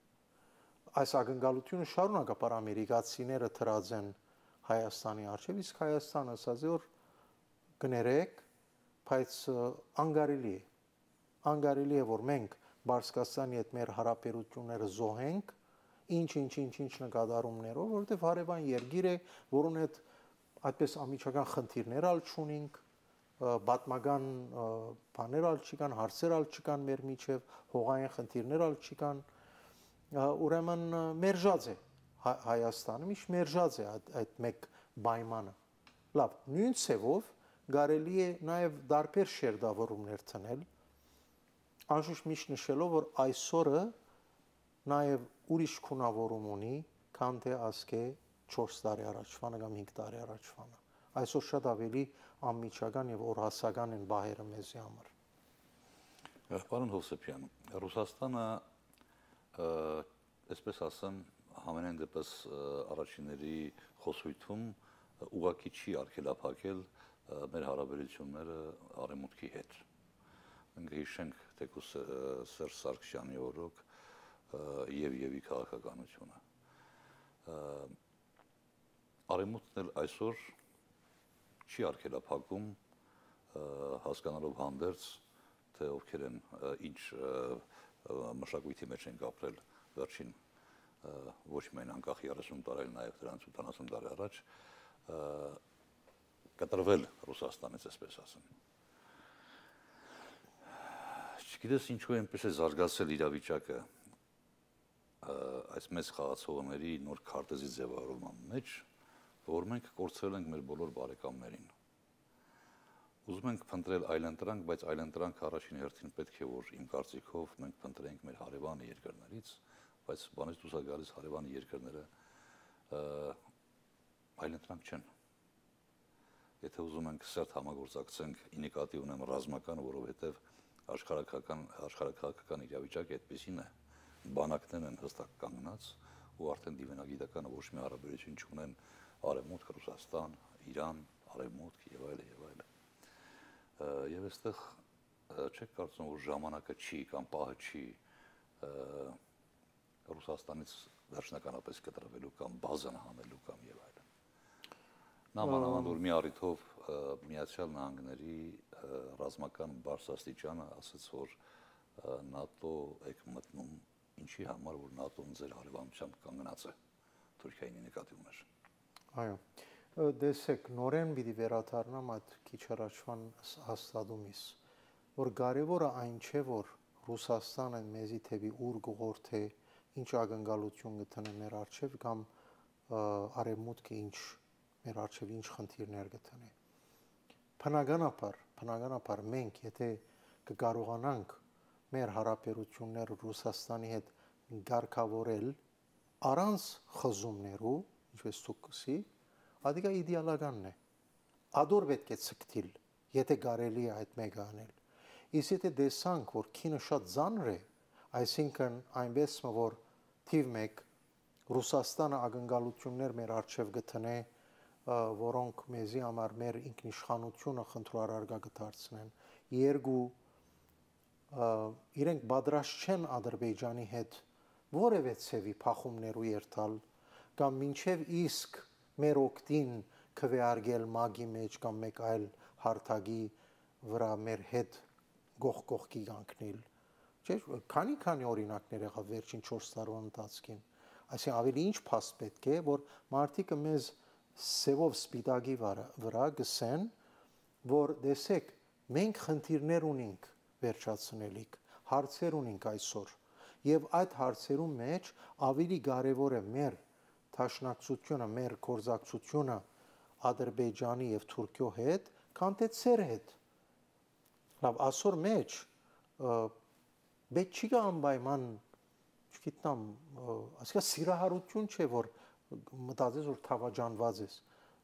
Այս ակնկալությունը շարունակապար ամերիկացիները դրած են Հայաստանի առջև, իսկ Հայաստանը ասաց որ գներեք, բայց անկարելի է որ մենք Բարսկաստանի հետ մեր հարաբերությունները զոհենք, ինչ նկատառումներով, որովհետև հարևան երկիր է, որուն հետ այդպես ամիջական խնդիրներ ալ չունենք, պատմական բաներ ալ չկան, հարցեր ալ չկան մեր միջև, հողային խնդիրներ ալ չկան, ուրեմն մերժած է Հայաստանը, միշտ մերժած է այդ մեկ պայմանը։ Լավ, նույն ցևով կարելի է նաև դարբեր շերտավորումներ տնել, անշուշտ միշտ նշելով, որ այսօրը նաև ուրիշ քունավորում ունի, քան թե ասկե 4 տարի առաջվանը կամ 5 տարի առաջվանը։ Այսօր շատ ավելի անմիջական եւ օրհասական են բահերը մեզի համար։ Պարոն Հովսեփյան, Ռուսաստանը, այսպես ասեմ, համենայն դեպս առաջինների խոսույթում ուղղակի չի արգելափակել մեր հարաբերությունները արևմուտքի հետ։ Մենք հիշենք թեկուզ Սերժ Սարգսյանի օրոք եւ քաղաքականությունը։ Արևմուտքն էլ այսօր չի արգելափակում հասկանալով հանդերձ, թե ովքեր են ինչ մշակույթի մեջ են ապրել վերջին ոչ միայն անկախ 30 տարի, նաև դրանից 70 տարի առաջ կտրվել Ռուսաստանից, այսպես ասեմ։ Չգիտես ինչու այնպես է զարգացել իրավիճակը այս մեծ խաղացողների նոր քարտեզի ձևավորման մեջ, որ մենք կորցրել ենք մեր բոլոր բարեկամներին։ Ուզում ենք փնտրել այլընտրանք, բայց այլընտրանքը առաջին հերթին պետք է որ իմ կարծիքով մենք փնտրենք մեր հարևան երկրներից, բայց բանից դուրս գալիս հարևան երկրները այլընտրանք չեն։ Եթե ուզում ենք սերտ համագործակցենք, ի նկատի ունեմ ռազմական, որովհետև աշխարհաքաղաքական իրավիճակը այդպեսին է, բանակներն են հստակ կանգնած ու արդեն դիվանագիտականը ոչ մի հարաբերություն չունեն Արևմուտք, Ռուսաստան, Իրան, Արևմուտք եւ այլն։ Եվ այստեղ չեք կարծում, որ ժամանակը չի կամ պահը չի Ռուսաստանից վերջնականապես կտրվելու կամ բազան հանելու կամ եւ այլն։ Նա մանավանդ որ մի առիթով Միացյալ Նահանգների ռազմական բարձրաստիճանը ասաց, որ ՆԱՏՕ եք մտնում ինչի համար, որ ՆԱՏՕ-ն ձեր հարևանությամբ կանգնած է Թուրքիայի նկատի ուներ։ Այո։ Դեսեք, նորեն պիտի վերադառնամ այդ քիչ առաջվան հաստատումից, որ կարևորը այն չէ, որ Ռուսաստանը մեզի թեպի ուր գողորթե ինչ ակնկալություն գտնե մեր արչև կամ արևմուտքը ինչ մեր արչև ինչ խնդիրներ գտնե։ Բնականաբար մենք եթե կկարողանանք մեր հարաբերությունները Ռուսաստանի հետ կարգավորել առանց խզումներու, ինչպես ցուցի, ադիգա իդեալականն է։ Ադոր պետք է ցկտիլ, եթե կարելի է այդ մեկը անել։ Իսկ եթե դեսանք, որ քինը շատ ծանր է, այսինքն այնպես որ թիվ 1 Ռուսաստանը ակնկալություններ մեր արչև գտնե, որոնք մեզի համար մեր ինքնիշխանությունը խնդրարարգա կդարձնեն։ Երկու իրենք պատրաստ չեն Ադրբեջանի հետ որևէ ցևի փախումներու երթալ կամ մինչև իսկ մեր օկտին քվեարկել մագի մեջ կամ մեկ այլ հարթակի վրա մեր հետ գողքի կանգնել։ Չէ՞, քանի օրինակներ եղավ վերջին 4 տարվա ընթացքին։ Այսինքն ավելի ինչ փաստ պետք է, որ մարդիկը մեզ սևով սպիտակի վրա գսեն, որ տեսեք, մենք խնդիրներ ունենք վերջացնելիք, հարցեր ունենք այսօր, եւ այդ հարցերում մեջ ավելի կարեւոր է մեր թաշնակցությունը, մեր կորզակցությունը Ադրբեջանի եւ Թուրքիո հետ, քան թե ծեր հետ։ Լավ, այսօր մեջ պետք չի գա անպայման, չգիտեմ, ասկա սիրահարություն չէ, որ մտածես որ թավաջանված ես։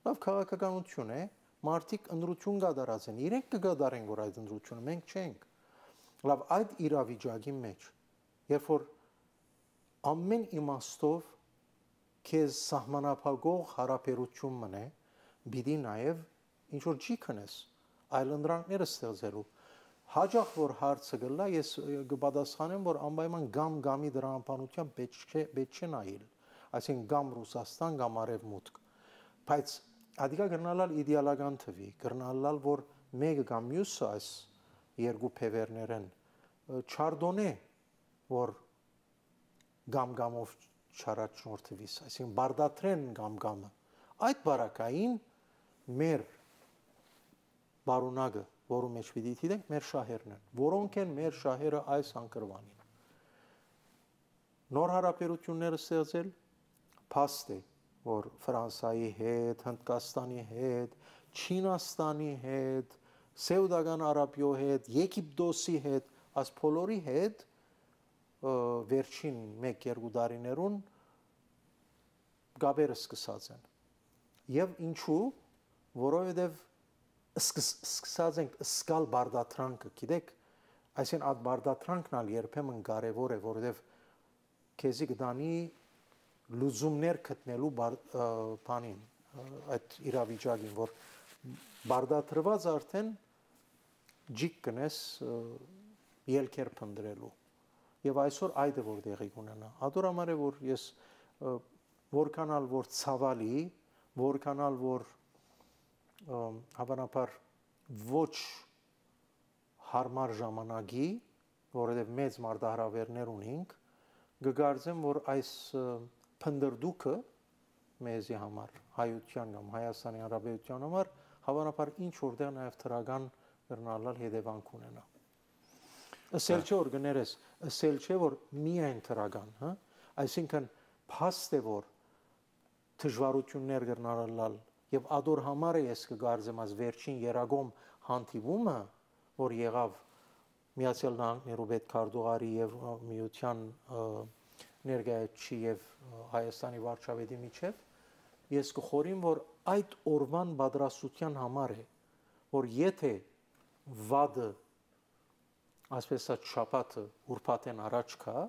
Լավ քաղաքականություն է, մարդիկ ընդրություն կատարած են, իրենք կգադարեն որ այդ ընդրությունը մենք չենք։ Լավ, այդ իրավիճակի մեջ, երբ որ ամեն իմաստով քեզ սահմանափակող հարաբերություն մնե, բիդի նաև ինչ որ չի քնես, այլ ընդրանքները ստեղծելու։ Հաջող որ հարցը գլա, ես կպատասխանեմ, որ անպայման գամի դրամապանության պետք չէ նայել, այսինքն գամ Ռուսաստան, գամ Արևմուտք, բայց ադիգա գրնալալ իդեալական թվի, գրնալալ որ մեկը կամ մյուսը այս երկու փևերներեն չարդոնե, որ գամով չարաչնորթվիս, այսինքն բարդատրեն գամը, այդ բարակային մեր բարունակը, որում մեջ պիտի դիտենք, մեր շահերն են, որոնք են մեր շահերը այս անկրվանին։ Նոր հարաբերությունները ստեղծել, փաստ է, որ Ֆրանսայի հետ, Հնդկաստանի հետ, Չինաստանի հետ, Սեուդական Արաբիո հետ, Եգիպտոսի հետ, այս բոլորի հետ վերջին 1-2 տարիներուն գաբերը սկսած են։ Եվ ինչու, որովհետև սկսած ենք սկալ բարդատրանքը, գիտեք, այսինքն այդ բարդատրանքն ալ երբեմն կարևոր է, որովհետև քեզի կդանի լուծումներ գտնելու բանին, այդ իրավիճակին, որ բարդատրված արդեն ջիկ կնես ելքեր փնտրելու։ Եվ այսօր այդ է որ տեղի կունենա։ Ադոր համար է որ ես որքանալ որ ցավալի, որքանալ որ հավանաբար ոչ հարմար ժամանակի, որովհետև մեծ մարտահրավերներ ունենք, կգարձեմ որ այս փնդրդուկը մեզի համար, հայության կամ Հայաստանի Հանրապետության համար հավանաբար ինչ որտեղ նաև թրական գրնալալ հետևանք ունենա։ Ասել չէ որ գներես, ասել չէ որ միայն թրական, հա? Այսինքն փաստ է որ դժվարություններ գրնալալ եւ ադոր համար է ես կգարձեմ այս վերջին երագոմ հանդիպումը, որ եղավ Միացյալ Նահանգներու պետքարտուղարի եւ Միության ներկայացուցիչ եւ Հայաստանի վարչապետի միջեւ, ես կխորին որ այդ օրվան պատրաստության համար է, որ եթե վադը այսպես շաբաթը ուրբաթեն առաջ կա,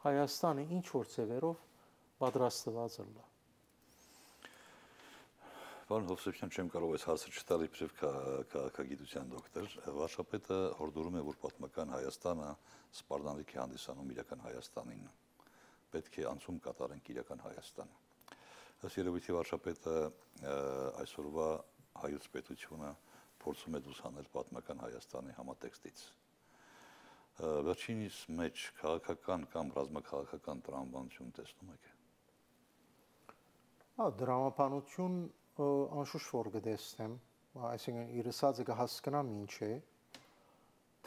Հայաստանը ինչ որ ծևերով պատրաստված է։ Պարոն Հովսեփյան, չեմ կարող այս հարցը չտալ իբրև քաղաքագիտության դոկտոր, վարչապետը հորդորում է, որ պատմական Հայաստանը սպառնալիք է հանդիսանում իրական Հայաստանին, պետք է անցում կատարենք իրական Հայաստանը։ Ըստ երևույթի վարչապետը այսօրվա հայոց պետությունը փորձում է դուսանել պատմական Հայաստանի համատեքստից։ Վերջինիս մեջ քաղաքական կամ ռազմաքաղաքական տրամաբանություն տեսնում եք։ Դրամաբանություն անշուշտ որ կտեսնեմ, այսինքն իր ասածը կհասկանամ ինչ է,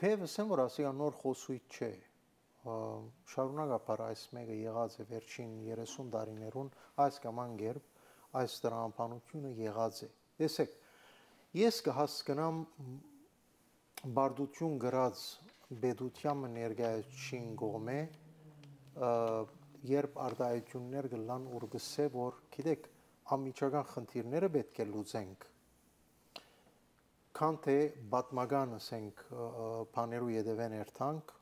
թեև ասեմ որ ասիա նոր խոսույթ չէ, շարունակաբար այս մեկը եղած է վերջին 30 տարիներուն այս կամ անգերբ այս դրամաբանությունը եղած է։ Տեսեք, ես կհասկանամ բարդություն գրած պետության ներկայացուցիչ կողմէ երբ արտահայտություններ կլան ուր գսե որ գիտեք անմիջական խնդիրները պետք է լուծենք քան թե պատմական ասենք բաներու յետևեն երթանք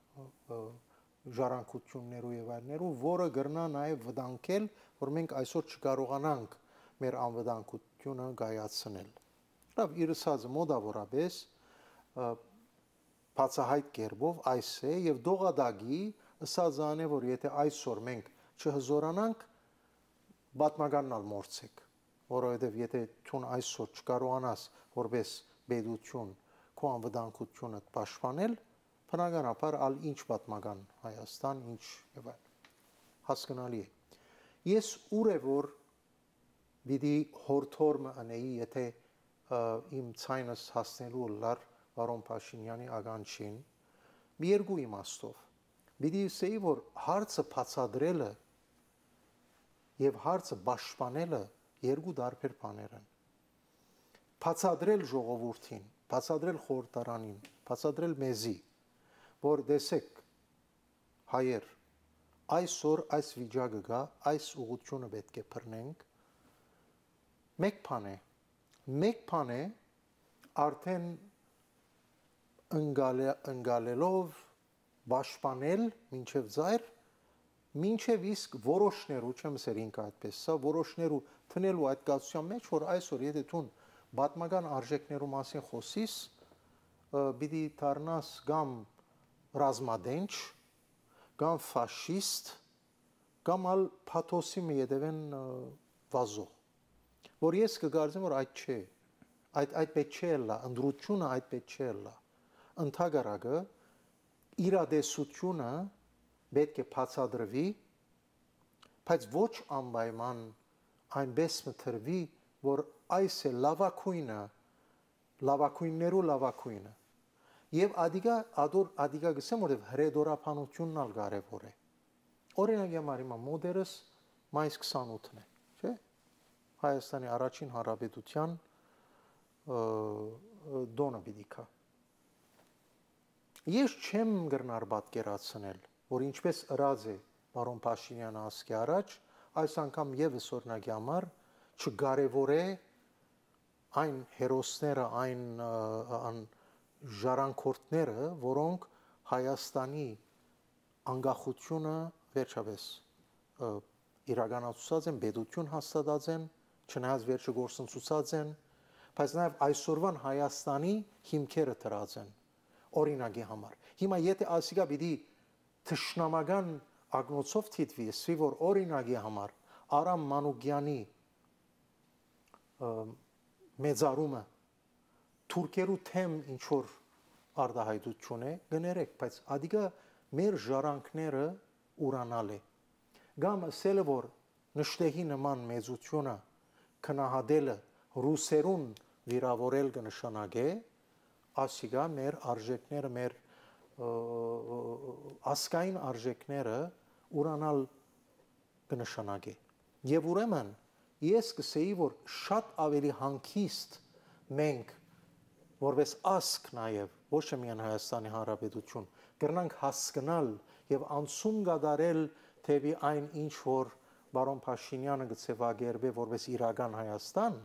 ժառանգություններու եւ այլներու որը գրնա նաեւ վտանգել որ մենք այսօր չկարողանանք մեր անվտանգությունը կայացնել լավ իր ասածը մոտավորապես բացահայտ կերպով այս է եւ դողադագի ասածան է որ եթե այսօր մենք չհզորանանք պատմականնալ մորցեք որովհետեւ եթե ցուն այսօր չկարողանաս որպես պետություն քո անվտանգությունը պաշտպանել բնականաբար ալ ինչ պատմական Հայաստան ինչ եւ այլ հասկանալի է ես ուր է որ պիտի հորթորմը անեի եթե իմ ցայնս հասնելու լար Վարոն Փաշինյանի ականջին մի երկու իմաստով պիտի ասեի որ հարցը բացադրելը եւ հարցը պաշտպանելը երկու տարբեր բաներ են բացադրել ժողովրդին բացադրել խորհրդարանին բացադրել մեզի որ տեսեք հայեր այսօր այս վիճակը գա այս ուղղությունը պետք է բռնենք մեկ բան է արդեն ընկալելով պաշտպանել մինչև ծայր մինչև իսկ որոշներու չեմ ասել ինքը այդպես սա որոշներու տնելու այդ կացության մեջ որ այսօր եթե դու պատմական արժեքներու մասին խոսիս պիտի դառնաս կամ ռազմադենչ կամ ֆաշիստ կամ ալ փաթոսի մի յետևեն վազող որ ես կգարձեմ որ այդ չէ այդ պետք չէ լա ընդրությունը այդ պետք չէ լա ընդհանրակը իրադեսությունը պետք է բացադրվի բայց ոչ անպայման այնպես մտրվի որ այս է լավակույններու լավակույնը եւ ադիգա գսեմ որ հրեդորապանությունն ալ կարեւոր է օրինակ համար հիմա մոդերս մայիս 28-ն է չէ Հայաստանի առաջին հանրապետության դոնը պիտի կա ես չեմ գրնար պատկերացնել որ ինչպես ըրած է Վարոն Փաշինյանը ասկի առաջ այս անգամ եւս օրինակի համար չկարևոր է այն հերոսները այն ժառանգորդները որոնք Հայաստանի անկախությունը վերջապես իրականացած են պետություն հաստատած են չնայած վերջը գործընծուցած են բայց նաև այսօրվան Հայաստանի հիմքերը դրած են օրինակի համար հիմա եթե ասիկա պիտի թշնամական ագնոցով թիթվի ասի որ օրինակի համար Արամ Մանուկյանի մեծարումը թուրքերու թեմ ինչ որ արտահայտություն է գներեք բայց ադիգա մեր ժառանգները ուրանալ է կամ ասելը որ նշտեհի նման մեծությունը քնահատելը ռուսերուն վիրավորել կնշանակե ասիգա մեր արժեքները մեր ասկային արժեքները ուրանալ կնշանակե եւ ուրեմն ես կսեի որ շատ ավելի հանգիստ մենք որպես ասկ նաեւ ոչ միայն Հայաստանի Հանրապետություն կրնանք հասկանալ եւ անցում կատարել թեպի այն ինչ որ Բարոն Փաշինյանը գծեվագերբե որպես իրական Հայաստան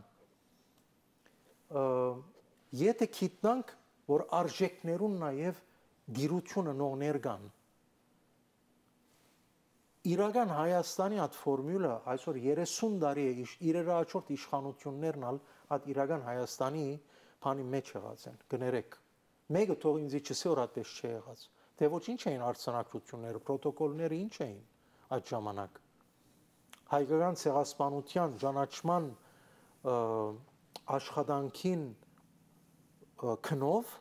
եթե գիտնանք որ արժեքներուն նաեւ դիրությունը նողներ կան իրական Հայաստանի այդ ֆորմուլա այսօր 30 տարի է իրարաչորդ իշխանություններն ալ այդ իրական Հայաստանի բանի մեջ եղած են գներեք մեկը թող ինձ չսե որ այդպես չի եղած թե ոչինչ էին արցանակությունները պրոտոկոլները ինչ էին այդ ժամանակ հայկական ցեղասպանության ճանաչման աշխատանքին քնով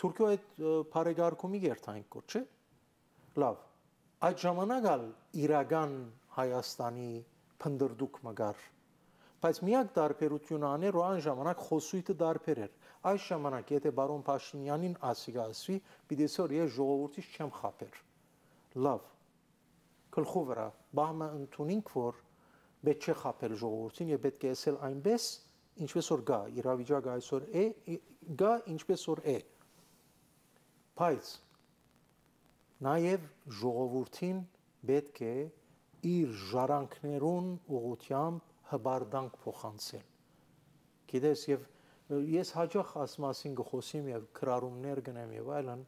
Թուրքիո այդ բարեգարկումի երթային կոչ չէ լավ այդ ժամանակ ալ իրական Հայաստանի փնդրդուկ մգար բայց միակ դարբերությունը աներ ու այն ժամանակ խոսույթը դարբեր էր այս ժամանակ եթե բարոն Փաշինյանին ասի պիտի որ ես ժողովրդից չեմ խափեր լավ գլխու վրա բահմը ընդունինք որ պետք չէ խափել ժողովրդին եւ պետք է ասել այնպես ինչպես որ գա իրավիճակը այսօր է գա ինչպես որ է բայց նաեւ ժողովրդին պետք է իր ժառանգներուն ուղղությամբ հբարդանք փոխանցել գիտես եւ ես հաջող ասմասին գխոսիմ եւ քրարումներ գնեմ եւ այլն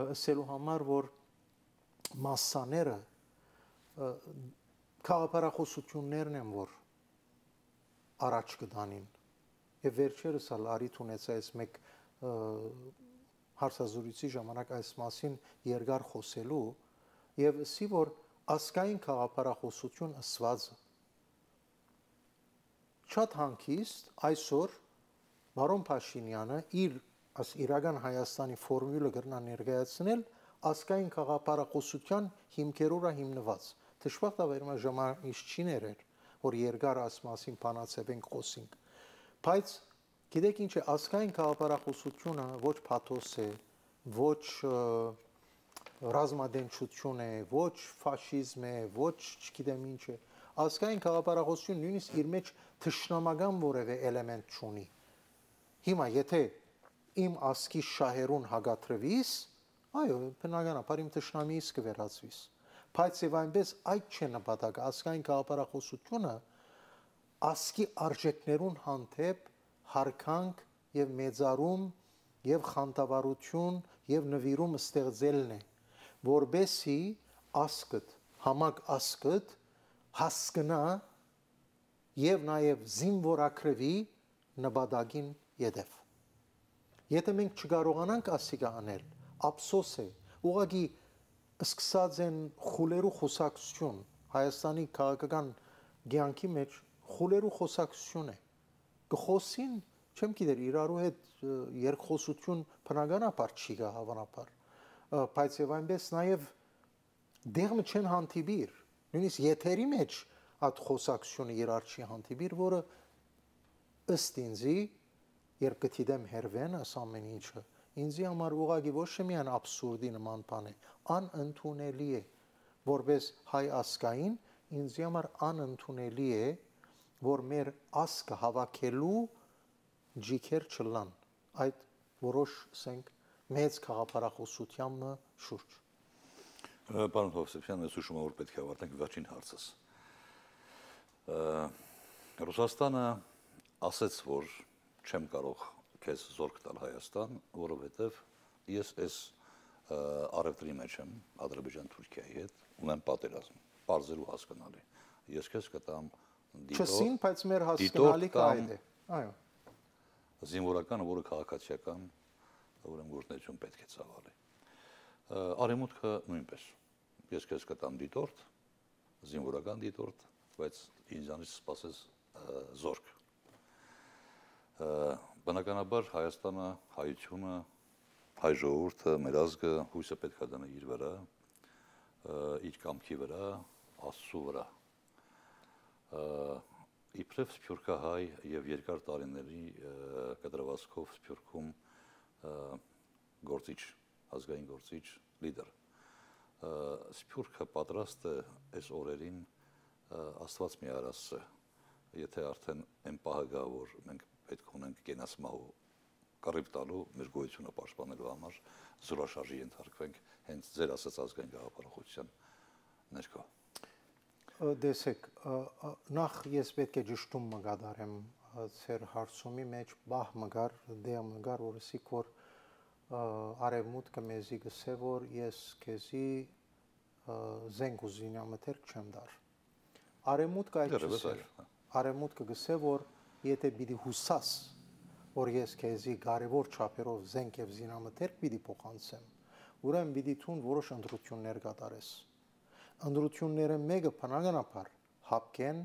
ասելու համար որ մասսաները քաղաքապարախոսություններն են որ առաջ կդանին եւ վերջերս ալ արիթ ունեցա այս մեկ հարցազրույցի ժամանակ այս մասին երկար խոսելու եւ ասի որ ասկային քաղաքապարախոսություն ասված շատ հանգիստ այսօր բարոն Փաշինյանը իր իրական Հայաստանի ֆորմուլը կրնա ներկայացնել ասկային քաղաքապարախոսության հիմքերով հիմնված դժբախտաբար ժամանակ չի ներեր որ երկար ասմասին բանացեվենք խոսենք բայց գիտեք ինչ է ասկային քաղաքապարախոսությունը ոչ փաթոս է ոչ ռազմադենչություն է ոչ ֆաշիզմ է ոչ չգիտեմ ինչ է ասկային քաղաքապարախոսությունը նույնիսկ իր մեջ թշնամական որևէ էլեմենտ չունի հիմա եթե իմ ասկի շահերուն հագատրվիս այո բնականաբար իմ թշնամիս կվերածվիս բայց եւ այնպես այդ չէ նպատակը ասկային քաղաքապարախոսությունը ասկի արժեքներուն հանդեպ հարկանք եւ մեծարում եւ խանդավառություն եւ նվիրում ստեղծելն է որբեսի ասկդ համակ ասկդ հասկնա եւ նաեւ զինվորակրվի նպատակին յետև եթե մենք չկարողանանք ասիկա անել ափսոս է ուղղակի սկսած են խուլերու խոսակցություն Հայաստանի քաղաքական ցանկի մեջ խուլերու խոսակցություն է գխոսին չեմ գիտեր իրարու հետ երկխոսություն բնականաբար չի գա հավանաբար բայց եւ այնպես նաեւ դեղը չեն հանդիպիր նույնիսկ եթերի մեջ այդ խոսակցությունը իրար չի հանդիպիր որը ըստ ինձի երբ գտիդեմ հերվեն աս ամեն ինչը ինձի համար ուղղակի ոչ միայն աբսուրդի նման բան է անընդունելի է որպես հայ ասկային ինձի համար անընդունելի է որ մեր ասկը հավաքելու ջիքեր չլան այդ որոշ ասենք մեծ քաղաքապարախոսության շուրջ Պարոն Հովսեփյան ես հուշում եմ որ պետք է ավարտենք վերջին հարցս Ռուսաստանը ասեց որ չեմ կարող քեզ զորք տալ Հայաստան, որովհետև ես այս արևտրի մեջ եմ Ադրբեջան Թուրքիայի հետ, ունեմ պատերազմ, բարձր ու հասկանալի։ Ես քեզ կտամ դիտորդ, չսին, բայց մեր հասկանալիքը այդ է։ Այո։ Զինվորական, որը քաղաքացիական, ուրեմն գործունեություն պետք է ծավալի։ Արևմուտքը նույնպես։ Ես քեզ կտամ դիտորդ, զինվորական դիտորդ, բայց ինձանից սպասես զորք։ Բնականաբար Հայաստանը, հայությունը, հայ ժողովուրդը, մեր ազգը հույսը պետք է դնի իր վրա, իր կամքի վրա, Աստծու վրա։ Իբրև սփյուռքահայ եւ երկար տարիների կտրվածքով Սփյուռքում գործիչ, ազգային գործիչ, լիդեր։ Սփյուռքը պատրաստ է այս օրերին Աստված մի արասը, եթե արդեն այն պահը գա, որ մենք պետք ունենք կենասմահու կռիվ տալու մեր գոյությունը պաշտպանելու համար զորաշարժի ենթարկվենք հենց ձեր ասած ազգային գաղափարախոսության ներքո։ Դեսեք, նախ ես պետք է ճշտում մգադարեմ ձեր հարցումի մեջ բահ մգար, դե մգար, որսիկ որ արևմուտքը մեզի գսե որ ես քեզի զենք ուզինամթերք չեմ դար։ Արևմուտքը այդ չէ։ Արևմուտքը գսե որ եթե պիտի հուսաս որ ես քեզի կարևոր չափերով զենք եւ զինամթերք պիտի փոխանցեմ ուրեմն պիտի ցուն որոշ ընտրություններ կատարես։ Ընտրությունները մեկը բնականաբար հապկեն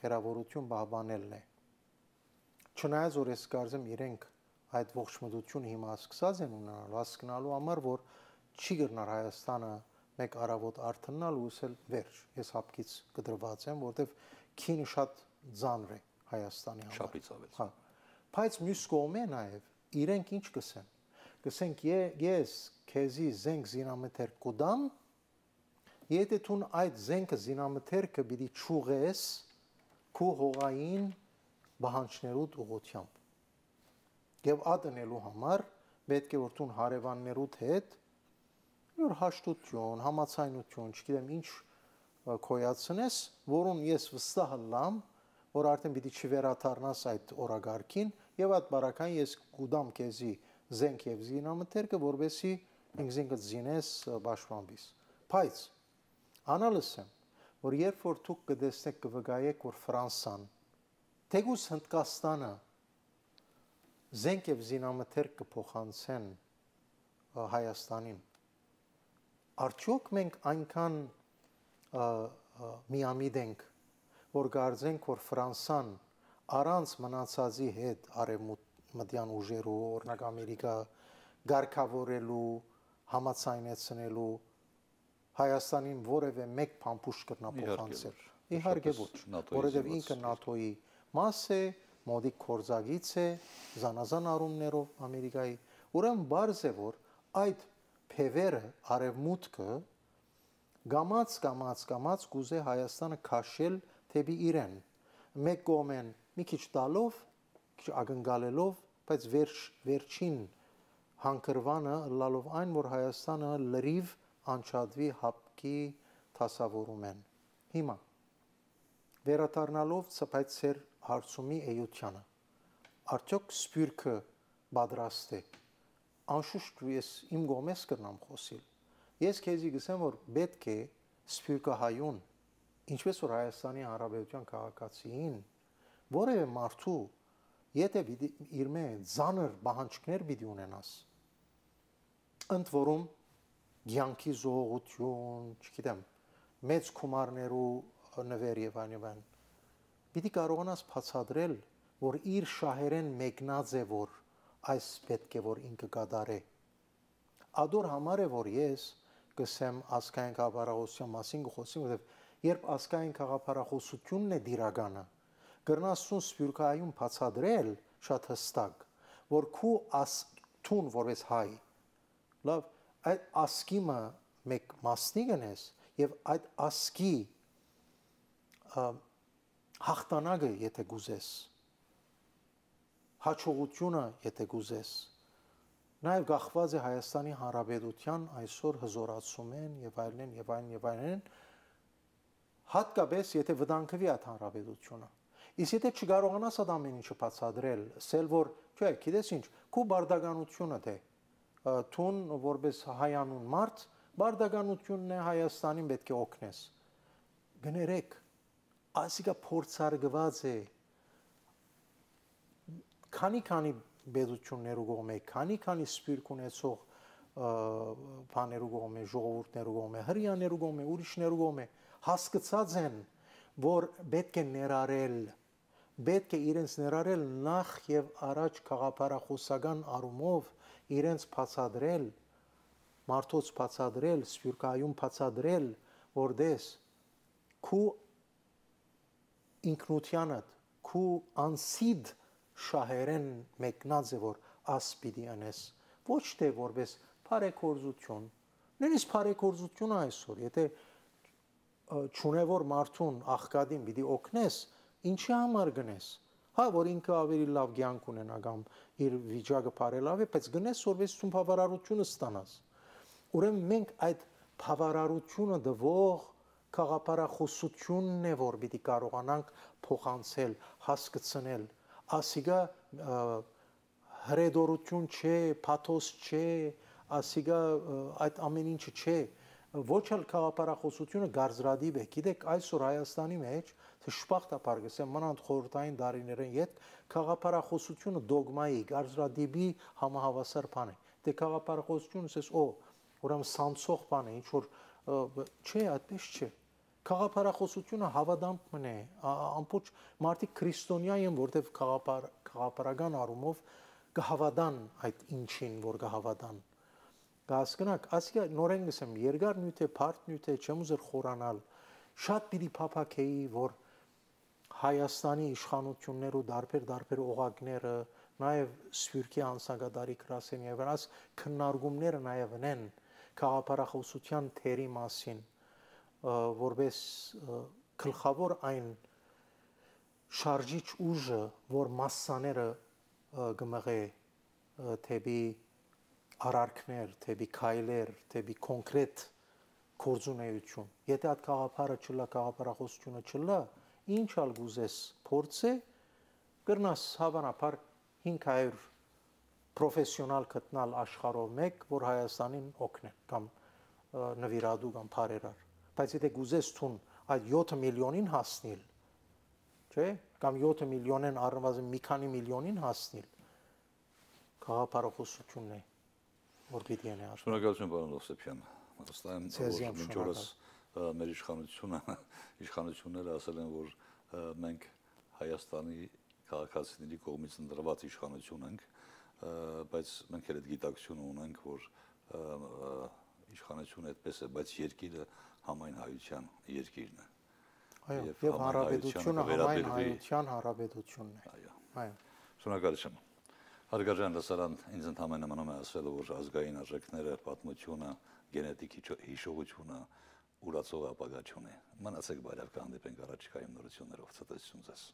հերավորություն պահպանելն է։ Չնայած որ ես կարծեմ իրենք այդ ողջմտությունը հիմա սկսած են ունենալ հասկանալու համար, որ չի գտնար Հայաստանը մեկ արավոտ արթնալ ու ասել վերջ, ես հապկից կդրված եմ, որտեվ քինը շատ ծանր է Հայաստանի համար։ Շապից ավել։ Հա։ Բայց մյուս կողմը նաև իրենք ինչ կսեն։ Կսենք ես քեզի զենք զինամթեր կուդամ, եթե ցուն այդ զենքը զինամթերքը պիտի ճուղես քու հողային բանջներուդ ուղությամբ։ Եվ ադնելու համար պետք է որ ցուն հարևաններուդ հետ որ հաշտություն, համացայնություն, չգիտեմ ինչ կոյացնես, որուն ես վստահ եմ, որ արդեն պիտի չվերաթարնաս այդ օրագարկին եւ այդ բարակային ես կուդամ քեզի զենք եւ զինամթերքը, որովհետեւ ինքզինքդ զինես պաշտպանվիս։ Բայց անալս եմ, որ երբ որ դուք կտեսնեք կվգայեք, որ Ֆրանսան, թեկուզ Հնդկաստանը զենք եւ զինամթերք կփոխանցեն Հայաստանին, արդյոք մենք այնքան միամիտ ենք, որ կարծենք, որ Ֆրանսան առանց մնացածի հետ արևմտյան ուժերու, օրինակ Ամերիկա գարկավորելու, համացայնեցնելու Հայաստանին որևէ մեկ փամփուշտ կրնա փոխանցել։ Իհարկե ոչ, որովհետև ինքը ՆԱՏՕ-ի մաս է, մոդիկ կորզագից է, զանազան առումներով Ամերիկայի։ Ուրեմն բարձ է, որ այդ փևերը արևմուտքը գամած կուզե Հայաստանը քաշել թեպի իրեն։ Մեկ կողմեն մի քիչ տալով, քիչ ակնկալելով, բայց վերջին հանգրվանը լալով այն, որ Հայաստանը լրիվ անչադվի հապկի դասավորում են։ Հիմա վերադառնալով ցպայց ծեր հարցումի էությանը, արդյոք սպյուրքը պատրաստ է։ Անշուշտ ես իմ գոմես կրնամ խոսիլ։ Ես քեզի գսեմ, որ պետք է սպյուրքը հայուն, ինչպես որ Հայաստանի Հանրապետության քաղաքացիին, որևէ մարդու, եթե իր մեջ ծանր պահանջներ պիտի ունենաս, ընդ որում ցանկի զողություն, չգիտեմ, մեծ գումարներու նվեր եւ այլն, պիտի կարողանաս բացատրել, որ իր շահերեն մեկնած է, որ այս պետք է որ ինքը կդարե։ Ադոր համար է, որ ես կսեմ ազգային գաղափարախոսության մասին կխոսեմ, որովհետև երբ ազգային գաղափարախոսությունն է դիրականը, գրնասուն սպյուրքայում բացատրել շատ հստակ, որ քու ասթուն որպես հայ, լավ, այդ ասկիմը մեկ մասնիկն ես եւ այդ ասկի հաղթանակը եթե գուզես, հաջողությունը եթե գուզես, նաև գախված է Հայաստանի Հանրապետության այսօր հզորացում են եւ այլն, հատկապես եթե վտանգվի այդ հանրապետությունը։ Իսկ եթե չկարողանաս այդ ամեն ինչը բացատրել, ասել որ, չէ, գիտես ինչ, քու բարդականությունը թե թուն որպես հայանուն մարդ, բարդականությունն է Հայաստանին պետք է օգնես։ Գներեք, ասիկա փորձարկված է քանի բեդություններու կողմէ, քանի սպիրկ ունեցող բաներու կողմէ, ժողովուրդներու կողմէ, հրյաներու կողմէ, ուրիշներու կողմէ հասկացած են, որ պետք է ներառել, պետք է իրենց ներառել նախ եւ առաջ գաղափարախոսական առումով իրենց բացադրել, մարդոց բացադրել, սպիրկայում բացադրել, որտես քու ինքնությանդ, քու անսիդ շահերեն մեկնած է, որ ասպիդի անես, ոչ թե որպես բարեգործություն, նույնիսկ բարեգործությունը այսօր, եթե չունևոր մարդուն աղքատին պիտի օգնես, ինչի համար գնես, հա, որ ինքը ավելի լավ կյանք ունենա կամ իր վիճակը բարելավի, բայց գնես որպես ցուն բավարարությունը ստանաս։ Ուրեմն մենք այդ բավարարությունը դվող գաղափարախոսությունն է, որ պիտի կարողանանք փոխանցել, հասկացնել, ասիգա հրեդորություն չէ, փաթոս չէ, ասիգա այդ ամեն ինչը չէ, ոչ էլ գաղափարախոսությունը գարզրադիվ է։ Գիտեք, այսօր Հայաստանի մեջ թշպախտապար գսեմ մանանդ խորհրդային դարիներեն յետ գաղափարախոսությունը դոգմայի, գարզրադիվի համահավասար բան է։ Դե գաղափարախոսությունը ասես, ուրեմն սանցող բան է, ինչ որ չէ, այդպես չէ։ Խաղապարախոսությունը հավադամք մնե, ամբողջ մարդիկ քրիստոնյա են, որտեղ խաղապարական առումով կհավատան այդ ինչին, որ կհավատան։ Կհասկանաք, ասիկա նորեն գսեմ, երկար նյութ է, բարդ նյութ է, չեմ ուզեր խորանալ, շատ պիտի փափաքեի, որ Հայաստանի իշխանություններ ու դարբեր օղակները, նաև Սփյուռքի անցագադարի գրասենյակի վրա քննարկումները նաև ունեն խաղապարախոսության թերի մասին, որպես գլխավոր այն շարժիչ ուժը, որ մասսաները գմղե թեպի արարքներ, թեպի քայլեր, թեպի կոնկրետ գործունեություն։ Եթե այդ խաղապարը չլա, խաղապարախոսությունը չլա, ինչ ալ գուզես փորձե, կրնաս հավանաբար 500 պրոֆեսիոնալ գտնալ աշխարհով մեկ, որ Հայաստանին օգնեն կամ նվիրատու կամ բարերար։ Բայց եթե գուզես թուն այդ 7 միլիոնին հասնել, չէ՞, կամ 7 միլիոնեն առնվազն մի քանի միլիոնին հասնել, խաղապարախոսությունն է, որ պիտի անե աշխարհ։ Շնորհակալություն, պարոն Հովսեփյան։ Վստահ եմ, որ մինչ օրս մեր իշխանությունները ասել են, որ մենք Հայաստանի քաղաքացիների կողմից ընտրված իշխանություն ենք, բայց մենք էլ այդ գիտակցությունը ունենք, որ իշխանությունը այդպես է, բայց երկիրը համայն հայության երկիրն է։ Այո, եւ հանրապետությունը համայն հայության հանրապետությունն է։ Այո։ Շնորհակալություն։ Հարգարժան լսարան, ինձ ընդհանրապես մնում է ասել, որ ազգային արժեքները, պատմությունը, գենետիկ հիշողությունը ուրացող ապագա չունի։ Մնացեք բարյավ, կհանդիպենք առաջիկայում նորություններով։ Ցտեսություն ձեզ։